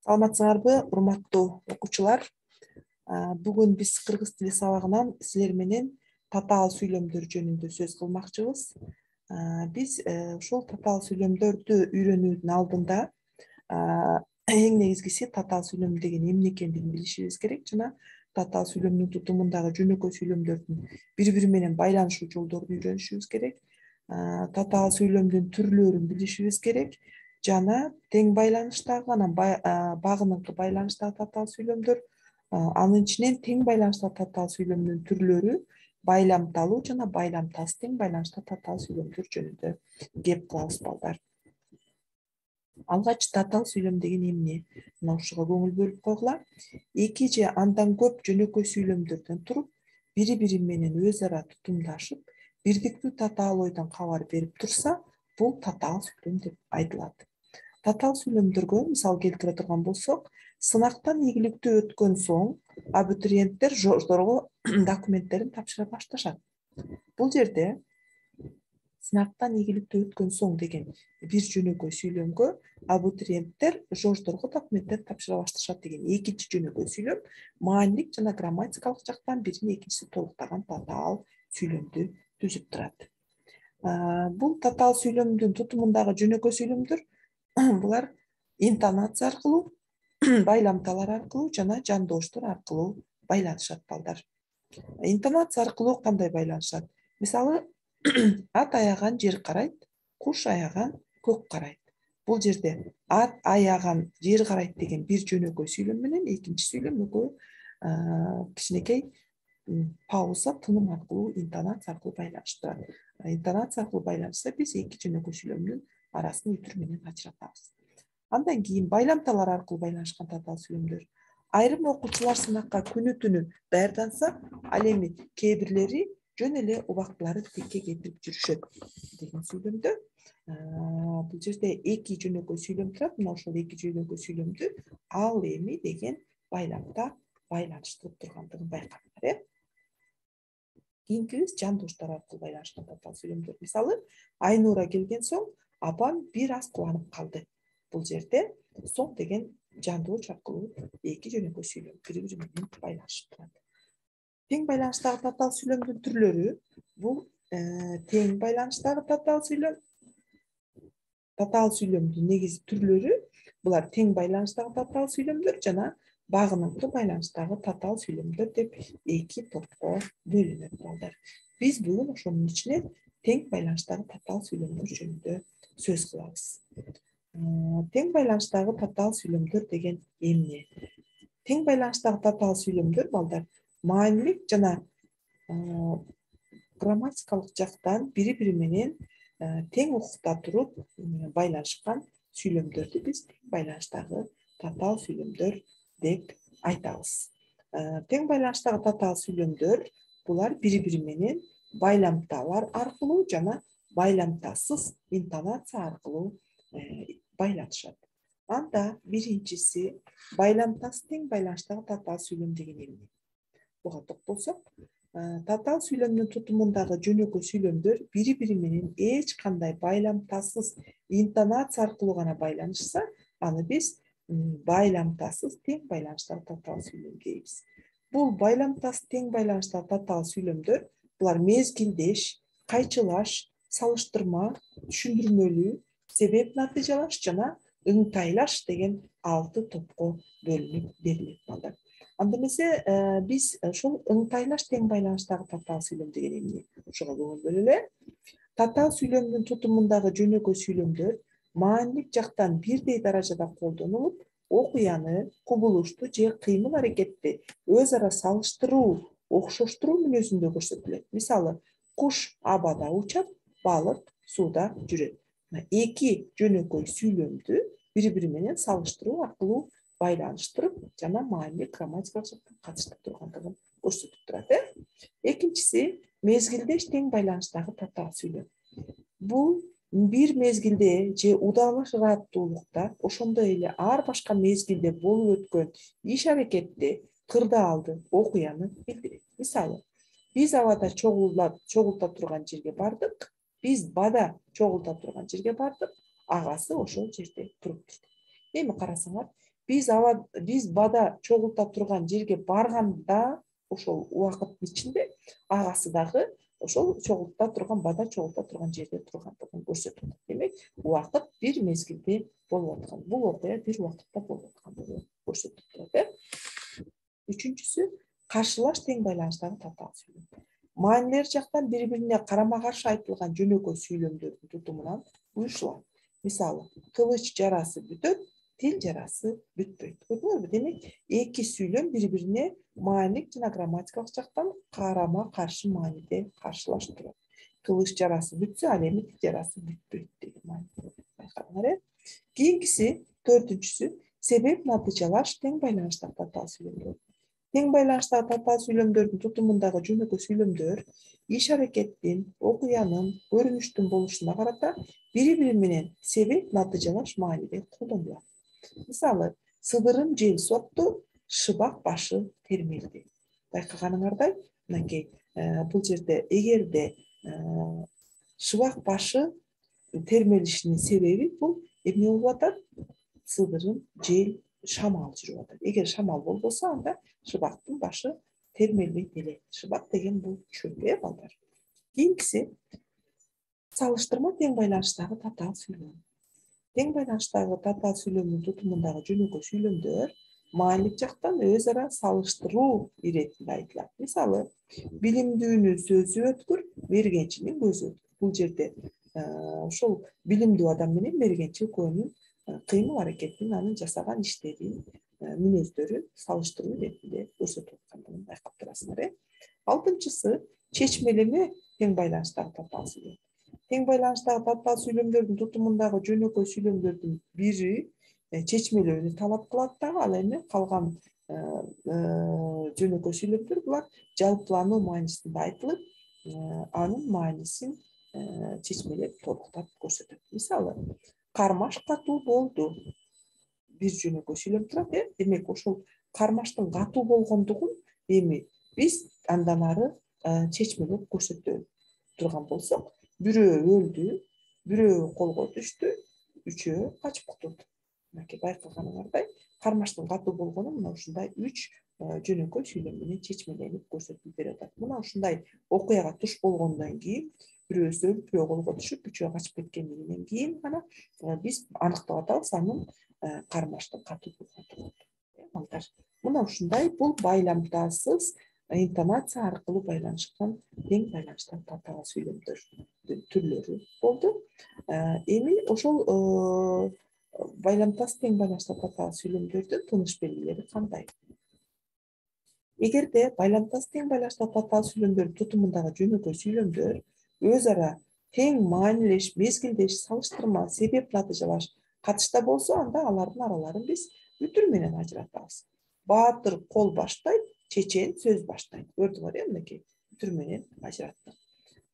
Саламатсыңарбы, урматтуу окуучулар? Бүгүн биз кыргыз тили сабагынан силер менен татаал сүйлөмдөр жөнүндө сөз кылмакчыбыз. Биз ушул татаал сүйлөмдөрдү үйрөнүүнүн алдында эң негизгиси татаал сүйлөм деген эмне экендигин билишибиз керек жана татаал сүйлөмдүн тутумундагы жөнөкөй сүйлөмдөрдүн бири бири менен байланышуу жолдорун үйрөнүшүбүз керек. Татаал сүйлөмдүн түрлөрүн билишибиз керек жана тең байланыштагы анан багыныңкы байланыштагы татаал сүйлөмдөр, анын ичинен тең байланыштагы татаал сүйлөмдүн түрлөрү байламталуу жана байламтасыз тең байланыштагы татаал сүйлөмдөр жөнүндө кеп кылабыз балдар. Алгач татаал сүйлөм деген эмне? Мына ушуга көңүл бөлүп койгула. Эки же андан көп жөнөкөй сүйлөмдөрдөн туруп, бири бири менен өз ара тутумдашып, бирдиктүү татаал ойдон кабар берип турса, бул татаал сүйлөм деп айтылат. Татаал сүйлөмдөргө мисал келтире турган болсок, сынактан ийгиликтүү өткөн соң абитуриенттер жордорго документтерин тапшыра башташат. Бул жерде сынактан ийгиликтүү өткөн соң деген бир жөнөкөй сүйлөмгө абитуриенттер жордорго документтерин тапшыра башташат деген экинчи жөнөкөй сүйлөм маанилик жана грамматикалык жактан бирин экинчиси толуктаган татаал сүйлөмдү түзүп турат. Бул татаал сүйлөмдүн тутумундагы жөнөкөй сүйлөмдөр булар интонация аркылуу, байламталар аркылуу жана жандооштор аркылуу байланышат балдар. Интонация аркылуу кандай байланышат? Мисалы, ат аяган жер карайт, куш аяган көк карайт. Бул жерде ат аяган жер карайт деген бир жөнөкөй сүйлөм менен экинчи сүйлөм экөө кичинекей пауза, тыным аркылуу, интонация аркылуу байланыштырат. Интонация аркылуу байланышса, биз эки жөнөкөй сүйлөмдүн арасын үтүр менен ажыратабыз. Андан кийин байламталар аркылуу байланышкан татаал сүйлөмдөр. Айрым окуучулар сынакка күнү түнү даярданса, ал эми кээ бирлери жөн эле убактылары тикке кетирип жүрүшөт деген сүйлөмдө бул жерде эки жөнөкөй сүйлөм турат. Мына ошол эки жөнөкөй сүйлөмдү ал эми деген байламда байланыштырып тургандыгын байкаңдар. Кийинкибиз жандооштор аркылуу байланышкан татаал сүйлөмдөр. Мисалы, Айнура келген соң апам бир аз кубанып калды. Бул жерде соң деген жандооч аркылуу эки жөнөкөй сүйлөм бири бири менен байланышып турат. Тең байланыштагы татаал сүйлөмдүн түрлөрү бул тең байланыштагы татаал сүйлөм. Татаал сүйлөмдүн негизи түрлөрү булар тең байланыштагы татаал сүйлөмдөр жана багыныңкы байланыштагы татаал сүйлөмдөр деп эки топко бөлүнөт балдар. Биз бүгүн ошонун ичинен тең байланыштагы татаал сүйлөмдөр жөнүндө сөз кылабыз. Тең байланыштагы татаал сүйлөмдөр деген эмне? Тең байланыштагы татаал сүйлөмдөр балдар маанилик жана грамматикалык жактан бири бири менен тең укукта туруп байланышкан сүйлөмдөрдү биз тең байланыштагы татаал сүйлөмдөр деп айтабыз. Тең байланыштагы татаал сүйлөмдөр булар бири бири менен байламталар аркылуу жана байламтасыз интонация аркылуу байланышат. Анда биринчиси байламтасыз тең байланыштагы татаал сүйлөм деген эмне? Буга токтолсок, татаал сүйлөмдүн тутумундагы жөнөкөй сүйлөмдөр бири бири менен эч кандай байламтасыз интонация аркылуу гана байланышса, аны биз байламтасыз тең байланыштагы татаал сүйлөм дейбиз. Бул байламтасыз тең байланыштагы татаал сүйлөмдөр булар мезгилдеш, кайчылаш, салыштырма, түшүндүрмөлүү, себеп натыйжалаш жана ыңтайлаш деген 6 топко бөлүнүп берилет балдар. Анда эмесе биз ошол ыңтайлаш тең байланыштагы татаал сүйлөм деген эмне? Ошого көңүл бөлөлү. Татаал сүйлөмдүн тутумундагы жөнөкөй сүйлөмдөр маанилик жактан бирдей даражада колдонулуп, окуяны, кубулушту же кыймыл аракетти өз ара салыштыруу, окшоштуруу мүнөзүндө көрсөтүлөт. Мисалы, куш абада учат, балык сууда жүрөт. Эки жөнөкөй сүйлөмдү бири бири менен салыштыруу аркылуу байланыштырып жана маанилик грамматикалык жактан катыштып тургандыгын көрсөтүп турат. Экинчиси мезгилдеш тең байланыштагы татаал сүйлөм. Бул бир мезгилде же удалыш ыраттуулукта, ошондой эле ар башка мезгилде болуп өткөн иш аракетти, кырдаалды, окуяны билдирет. Мисалы, биз абада чогулта турган жерге бардык, биз бада чогулта турган жерге бардык, агасы ошол жерде туруп турду. Эми карасаңар, биз бада чогулта турган жерге барганда ошол убакыттын ичинде агасы дагы ошол чогулта турган бада чогулта турган жерде тургандыгын көрсөтүп атат. Демек, убакыт бир мезгилде болуп аткан. Бул окуя бир убакытта болуп аткандыгын көрсөтүп турат. Үчүнчүсү каршылаш тең байланыштагы татаал сүйлөм. Маанилер жактан бири-бирине карама-каршы айтылган жөнөкөй сүйлөмдөрдүн тутумунан уюшулат. Мисалы, кылыч жарасы бүтөт, тил жарасы бүтпөйт. Көрдүңүзбү? Демек, эки сүйлөм бири-бирине маанилик жана грамматикалык жактан карама-каршы мааниде каршылаштырат. Кылыч жарасы бүтсө, ал эми тил жарасы бүтпөйт деген маани. Байкадыңар. Кийинкиси, төртүнчүсү, себеп натыйжалаш тең байланыштагы татаал сүйлөмдөр. Тең байланыштагы татаал сүйлөмдөрдүн тутумундагы жөнөкөй сүйлөмдөр иш-аракеттин, окуянын, көрүнүштүн болушуна карата бири-бири менен себеп натыйжалаш мааниде колдонулат. Мисалы, сыдырым жел сокту, шыбак башы термелди. Байкаганыңардай, мынакей бул жерде эгерде шыбак башы термелишинин себеби бул эмне болуп атат? Сыдырым жел шамал жүрүп атат. Эгер шамал болбосо, анда шыбактын башы термелбейт эле. Шыбак деген бул чөп, балдар. Кийинкиси салыштырма тең байланыштагы татаал сүйлөм. Тең байланыштагы татаал сүйлөмдүн тутумундагы жөнөкөй сүйлөмдөр маанилик жактан өз ара салыштыруу иретинде айтылат. Мисалы, билимдүүнүн сөзү өткүр, мергенчинин көзү өткүр. Бул жерде ошол билимдүү адам менен мергенчи экөөнүн кыймыл аракетин, анын жасаган иштерин, мүнөздөрүн салыштыруу иретинде көрсөтүп аткандыгын байкап турасыңар. Алтынчысы, чечмелеме тең байланыштагы татаал сүйлөм. Тең байланыштагы татаал сүйлөмдөрдүн тутумундагы жөнөкөй сүйлөмдөрдүн бири чечмелөөнү талап кылат дагы, ал эми калган жөнөкөй сүйлөмдөр булар жалпылануу маанисинде айтылып, анын маанисин чечмелеп толуктап көрсөтөт. Мисалы, кармаш катуу болду. Бир жөнөкөй сүйлөм турат, демек ошол кармаштын катуу болгондугун эми биз андан ары чечмелеп көрсөтө турган болсок, бирөө өлдү, бирөө колго түштү, үчөө качып кутулду. Мынакей байкаганыңардай, кармаштын катуу болгону мына ушундай 3 жөнөкөй сүйлөм менен чечмеленип көрсөтүлүп берип атат. Мына ушундай окуяга туш болгондон кийин, бирөөсү өлүп, бирөө колго түшүп, үчөө качып кеткендигинен кийин гана биз аныктап атабыз анын кармаштын катуу болгондугун. Балдар, мына ушундай бул байламтасыз интонация аркылуу байланышкан тең байланыштагы татаал сүйлөмдөрдүн түрлөрү болду. Эми ошол байламтас тең байланыштагы татаал сүйлөмдөрдүн тыныш белгилери кандай? Эгерде байламтас тең байланыштагы татаал сүйлөмдөрдүн тутумундагы жөнөкөй сүйлөмдөр өз ара тең маанилеш, мезгилдеш, салыштырма, себеп натыйжалаш катышта болсо, анда алардын араларын биз үтүр менен ажыратабыз. Баатыр кол баштайт, чечен сөз баштайт. Көрдүңөр, мынакей үтүр менен ажыраттык.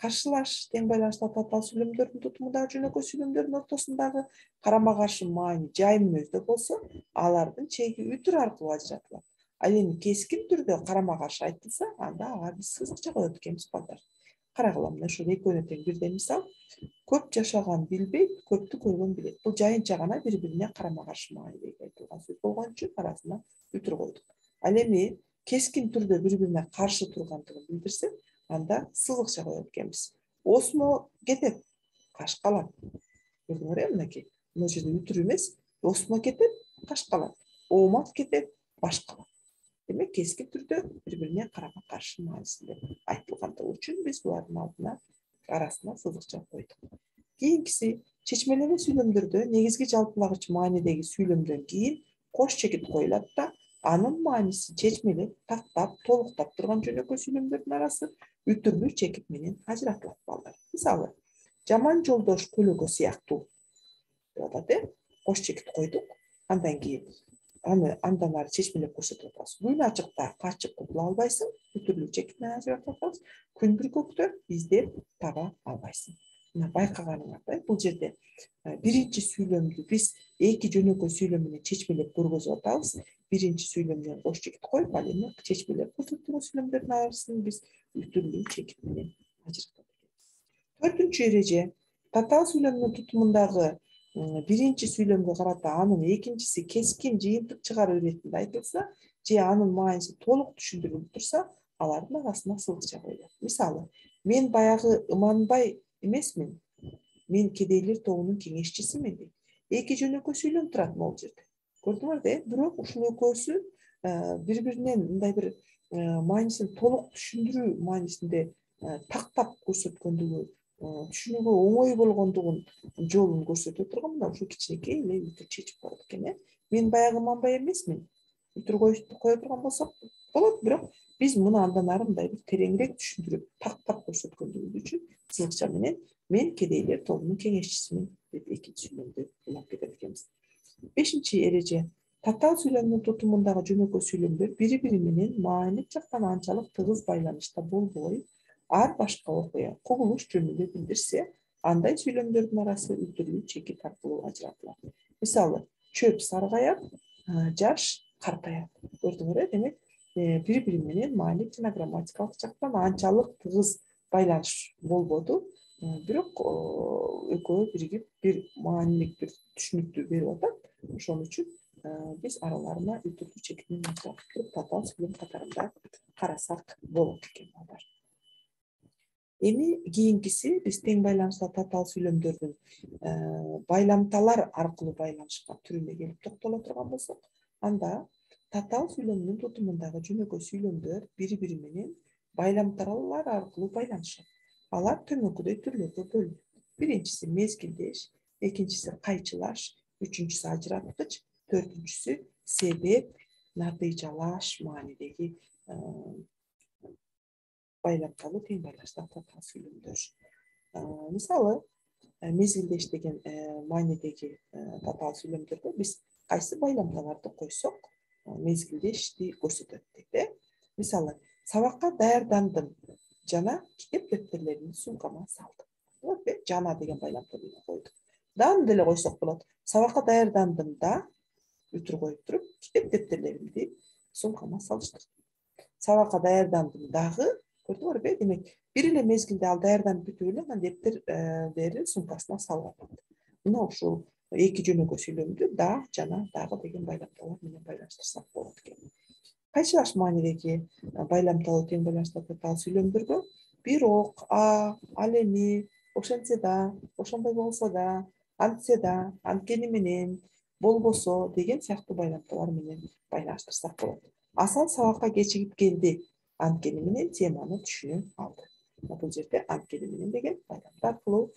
Каршылаш тең байланыштагы татаал сүйлөмдөрдүн тутумундагы жөнөкөй сүйлөмдөрдүн ортосундагы карама-каршы маани жай мүнөздө болсо, алардын чеги үтүр аркылуу ажыратылат. Ал эми кескин түрдө карама-каршы айтылса, анда ага биз сызыкча коет экенбиз, балдар. Карагыла, мына ушул экөөнү тең бирден мисал. Көп жашаган билбейт, көптү көргөн билет. Бул жайынча гана бири-бирине карама-каршы мааниде айтылган сөз болгон үчүн арасына үтүр койдук. Ал эми кескин түрдө бири-бирине каршы тургандыгын билдирсе, анда сызыкча коет экенбиз. Осмо кетет, каш калат. Көрдүңөр, мынакей. Мына жерде үтүр эмес, осмо кетет, каш калат. Оомат кетет, баш калат. Демек, кескин түрдө бири-бирине карама-каршы маанисинде айтылгандыгы үчүн биз булардын алдына арасына сызыкча койдук. Кийинкиси, чечмелеме сүйлөмдөрдө негизги жалпылагыч маанидеги сүйлөмдөн кийин кош чекит коюлат да, анын маанисин чечмелеп, тактап, толуктап турган жөнөкөй сүйлөмдөрдүн арасы үтүрлүү чекит менен ажыратылат, балдар. Мисалы, жаман жолдош көлөгө сыяктуу деп атат, кош чекит койдук, андан кийин андан ары чечмелеп көрсөтүп атабыз. Күн ачыкта качып кутула албайсың, үтүрлүү чекит менен ажыратып атабыз. Күн бүркөктө издеп таба албайсың. Мына байкаганыңардай, бул жерде биринчи сүйлөмдү биз эки жөнөкөй сүйлөм менен чечмелеп көргөзүп атабыз. Биринчи сүйлөмдөн кош чекит коюп, ал эми чечмелеп көрсөтүлгөн сүйлөмдөрдүн арасын биз үтүрлүү чекит менен ажыратат экенбиз. Төртүнчү эреже, татаал сүйлөмдүн тутумундагы биринчи сүйлөмгө карата анын экинчиси кескин жыйынтык чыгаруу иретинде айтылса же анын мааниси толук түшүндүрүлүп турса, алардын арасына сызыкча коюлат. Мисалы, мен баягы Ыманбай эмесмин, мен кедейлер тобунун кеңешчисимин дейт. Эки жөнөкөй сүйлөм турат могул жерде. Көрдүңөрбү? Бирок ушул экөөсү бири-биринен мындай бир маанисин толук түшүндүрүү маанисинде тактап көрсөткөндүгү, түшүнүүгө оңой болгондугун жолун көрсөтө турган мына ушул кичинекей эле үтүр чечип коет экен. Мен баягы Манбай эмесмин. Үтүр кое турган болсок болот, бирок биз муну андан ары мындай бир тереңирээк түшүндүрүп, тактап көрсөткөндүгүбүз үчүн сызыкча менен мен кедейлер тобунун кеңешчисимин деп экинчи сүйлөмдү улап кетет экенбиз. Бешинчи эреже. Татаал сүйлөмдүн тутумундагы жөнөкөй сүйлөмдөр бири-бири менен маанилик жактан анчалык тыгыз байланышта болбой, ар башка окуя, кубулуш жөнүндө билдирсе, андай сүйлөмдөрдүн арасы үтүрлүү чекит аркылуу ажыратылат. Мисалы, чөп саргаяк, жаш картаят. Көрдүңөр, демек бири-бири менен маанилик жана грамматикалык жактан анчалык тыгыз байланыш болбоду, бирок экөө биригип бир маанилик бир түшүнүктү берип атат. Ошон үчүн биз араларына үтүрлүү чекитин туруп татаал сүйлөм катарында карасак болот экен. Эми кийинкиси биз тең байланышта татаал сүйлөмдөрдүн байламталар аркылуу байланышкан түрүнө келип токтоло турган болсок, анда татаал сүйлөмдүн тутумундагы жөнөкөй сүйлөмдөр бири-бири менен байламталар аркылуу байланышат. Алар төмөнкүдөй түрлөргө бөлүнөт. Биринчиси мезгилдеш, экинчиси кайчылаш, үчүнчүсү ажыраткыч, төртүнчүсү себеп, натыйжалаш маанидеги байламталуу тең байланыштагы татаал сүйлөмдөр. Мисалы, мезгилдеш деген маанидеги татаал сүйлөмдөргө биз кайсы байламталарды койсок, мезгилдешти көрсөтөт дейт. Мисалы, сабакка даярдандым жана китеп дептерлеримди сумкама салдым. Жана деген байламталарды койдук. Дагы деле койсок болот. Сабакка даярдандым да, үтүр коюп туруп, китеп дептерлеримди сумкама салыштырдым. Сабакка даярдандым дагы, көрдүңөрбү? Демек, бир эле мезгилде ал даярданып бүтүп эле анан дептердерин сумкасына салып атат. Мына ушул эки жөнөкөй сүйлөмдү да, жана, дагы деген байламталар менен байланыштырсак болот экен. Кайчылаш маанидеги байламталуу тең байланыштагы татаал сүйлөмдөргө бирок, ал эми, ошентсе да, ошондой болсо да, антсе да, анткени менен, болбосо деген сыяктуу байламталар менен байланыштырсак болот. Асан сабакка кечигип келди, анткени менен теманы түшүнө алды. Бул жерде анткени менен деген байламдар аркылуу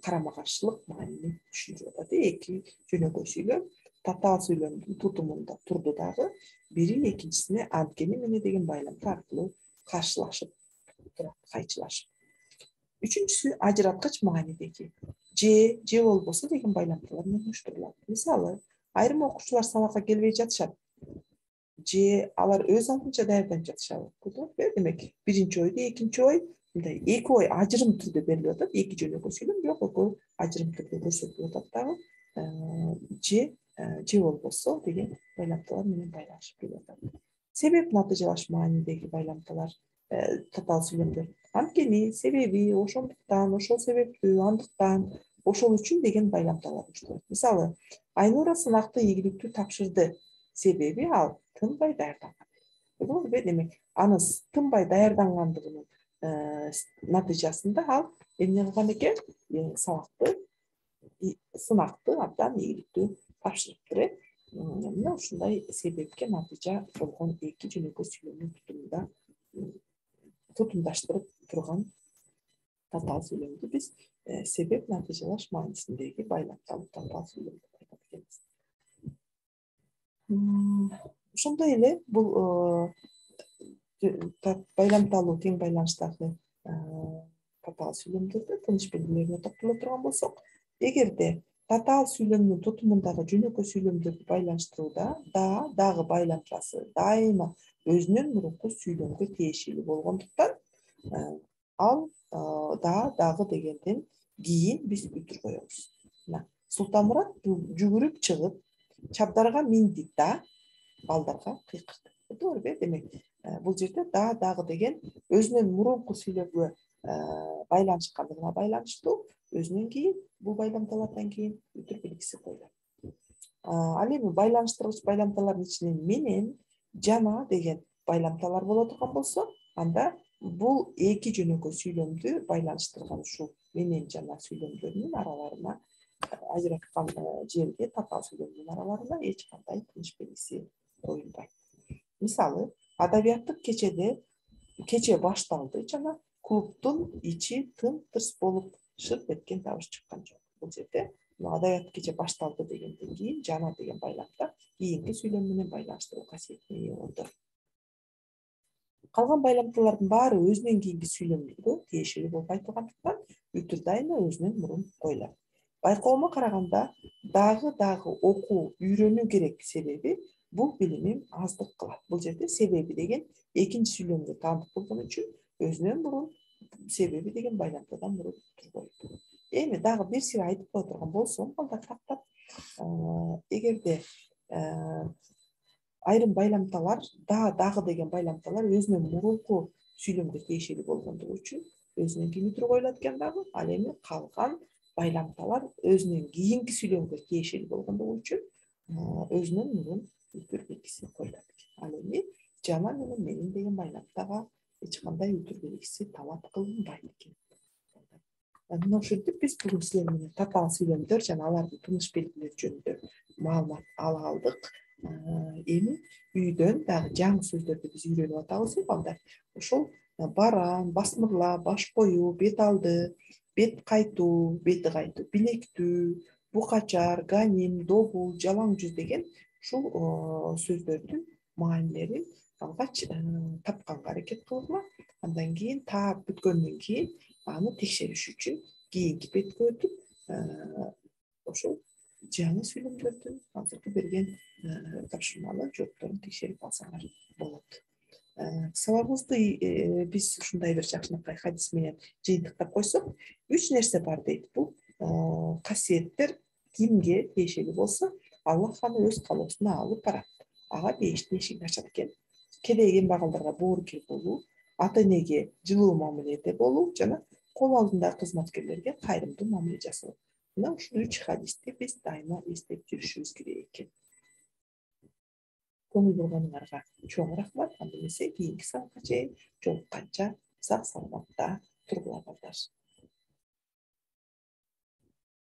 карама каршылык маанини түшүндүрүп атат. Эки жөнөкөй сүйлөм татаал сүйлөмдүн тутумунда турду дагы, бири экинчисине анткени менен деген байламдар аркылуу каршылашып турат, кайчылашып. Үчүнчүсү ажыраткыч маанидеги же болбосо деген байламталар менен уюштурулат. Мисалы, айрым окуучулар сабакка келбей жатышат, же алар өз алдынча даярданып жатышабы. Демек, биринчи ойду экинчи ой, мындай эки ой ажырым түрдө берилип атат, эки жөнөкөй сүйлөм, бирок экөө ажырым түрдө көрсөтүлүп атат дагы. Же болбосо деген байламталар менен байланышып келип атат. Себеп натыйжалаш маанидеги байламталар татаал сүйлөмдөр. Анткени, себеби, ошондуктан, ошол себептүү, андыктан, ошол үчүн деген байламталар уюштурулат. Мисалы, Айнура сынакты ийгиликтүү тапшырды, себеби ал тынбай даярданган. Демек, анын тынбай даярдангандыгынын натыйжасында ал эмне кылган экен? Сынакты абдан ийгиликтүү тапшырыптыр. Мына ушундай себепке натыйжа болгон эки жөнөкөй сүйлөмдүн тутумунда тутумдаштырып турган татаал сүйлөмдү биз себеп натыйжалаш маанисиндеги байламталуу татаал сүйлөм деп айтат экенбиз. Ошондой эле бул байламталуу тең байланыштагы татаал сүйлөмдөрдө тыныч белгилерине токтоло турган болсок, эгерде татаал сүйлөмдүн тутумундагы жөнөкөй сүйлөмдөрдү байланыштырууда дагы байламчасы дайыма өзүнөн мурунку сүйлөмгө тиешелүү болгондуктан, ал дагы дегенден кийин биз үтүр коебуз. Султанмурат жүгүрүп чыгып, чабдарга минди да балдарга кыйкырды. Демек, бул жерде дагы деген өзүнөн мурунку сүйлөмгө байланышкандыгына байланыштуу, өзүнөн кийин бул байламталардан кийин үтүр белгиси коюлат. Ал эми байланыштыргыч байламталардын ичинен менен, жана деген байламталар боло турган болсо, анда бул эки жөнөкөй сүйлөмдү байланыштырган ушул менен жана сүйлөмдөрүнүн араларына ажыраткан жерге татаал сүйлөмдүн араларына эч кандай тыныш белгиси коюлбайт. Мисалы, адабияттык кече башталды жана клубдун ичи тым-тырс болуп шырт эткен табыш чыккан жок. Бул жерде адабияттык кече башталды дегенден кийин жана деген байламда кийинки сүйлөм менен байланыштыруу касиетине ээ болду. Калган байламталардын баары өзүнөн кийинки сүйлөмгө тиешелүү болуп айтылгандыктан үтүр дайыма өзүнөн мурун коюлат. Байкоомо караганда дагы окуу, үйрөнүү керек себеби бул билимим аздык кылат. Бул жерде себеби деген экинчи сүйлөмгө таандык болгон үчүн өзүнөн мурун себеби деген байламтадан мурун турбойт. Эми дагы бир сыйра айтып кое турган болсом, балдарктап, эгерде айрым байламталар дагы деген байламталар өзүнөн мурунку сүйлөмгө тиешелүү болгондугу үчүн өзүнөн кийин үтүр коюлат экен дагы. Ал эми калган байламталар өзүнөн кийинки сүйлөмгө тиешелүү болгондугу үчүн өзүнөн мурун үтүр белгиси коюлат экен. Ал эми жана менен менин деген байламтага эч кандай үтүр белгиси талап кылынбайт экен. Мына ушинтип биз бүгүн силер менен татаал сүйлөмдөр жана алардын тыныш белгилери жөнүндө маалымат ала алдык. Эми үйдөн дагы жаңы сөздөрдү биз үйрөнүп атабыз балдар. Ошол барам, басмырлап, баш коюу, бет алды, бет кайтуу, бети кайтуу, билектүү, букачар, ганим, добул, жалаң жүз деген ушул сөздөрдүн маанилерин алгач тапканга аракет кылгыла. Андан кийин таап бүткөндөн кийин аны текшериш үчүн кийинки бетке өтүп ошол жаңы сүйлөмдөрдүн азыркы берген тапшырмалуу жоопторун текшерип алсаңар болот. Сабагыбызды биз ушундай бир жакшынакай хадис менен жыйынтыктап койсок, 3 нерсе бар дейт. Бул касиеттер кимге тиешелүү болсо, Аллах аны өз каалоосуна алып барат. Ага бейиштин эшигин ачат экен. Кедей кембагалдарга боорукер болуу, ата-энеге жылуу мамиледе болуу жана кол алдындагы кызматкерлерге кайрымдуу мамиле жасоо. Мына ушул 3 хадисти биз дайыма эстеп жүрүшүбүз керек экен. Көңүл бурганыңарга чоң рахмат. Анда эмесе кийинки сабакка чейин жолукканча сак саламатта тургула балдар.